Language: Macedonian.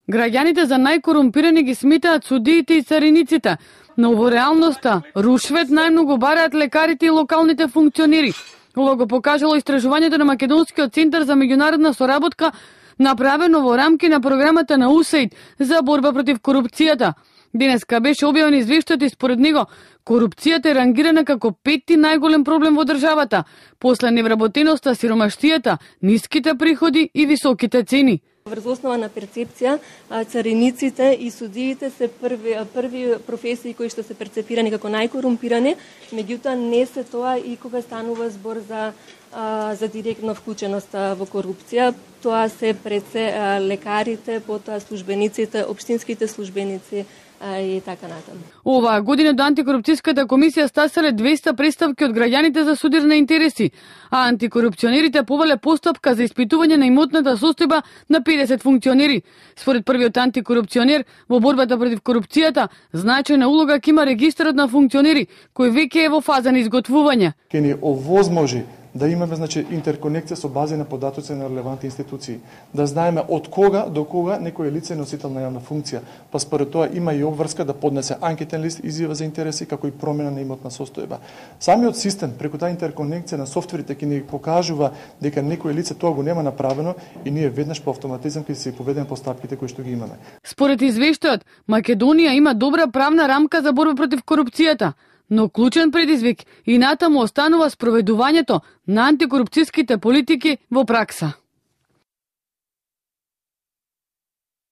Граѓаните за најкорумпирани ги сметаат судиите и цариниците, но во реалноста рушвет најмногу бараат лекарите и локалните функционери. Ова го покажало истражувањето на Македонскиот центар за меѓународна соработка, направено во рамки на програмата на УСАИД за борба против корупцијата. Денеска беше објавен извештајот и според него корупцијата е рангирана како 5-ти најголем проблем во државата, после невработеноста, сиромаштијата, ниските приходи и високите цени. Врз основа на перцепција, цариниците и судиите се први професии кои што се перцепирани како најкорумпирани, меѓутоа не се тоа и кога станува збор за директна вклученост во корупција. Тоа се пред се лекарите, потоа службениците, општинските службеници и така натаму. Оваа година до антикорупцијската комисија стаселе 200 представки од граѓаните за судирни интереси, а антикорупционерите повеле постапка за испитување на имотната состојба на 50 функционери. Според првиот антикорупционер во борбата против корупцијата, значајна улога ќе има регистарот на функционери, кој веќе е во фаза на изготвување. Ке ни овозможи да имаме интерконекција со бази на податоци на релевантни институции, да знаеме од кога до кога некој лице носител на јавна функција, па според тоа има и обврска да поднесе анкетен лист, изјава за интереси, како и промена на имотна состојба. Самиот систем преку таа интерконекција на софтверите ќе ни покажува дека некој лице тоа го нема направено и ние веднаш по автоматизам ќе се поведеме постапките кои што ги имаме. Според извештајот, Македонија има добра правна рамка за борба против корупцијата, но клучен предизвик и натаму останува спроведувањето на антикорупцијските политики во пракса.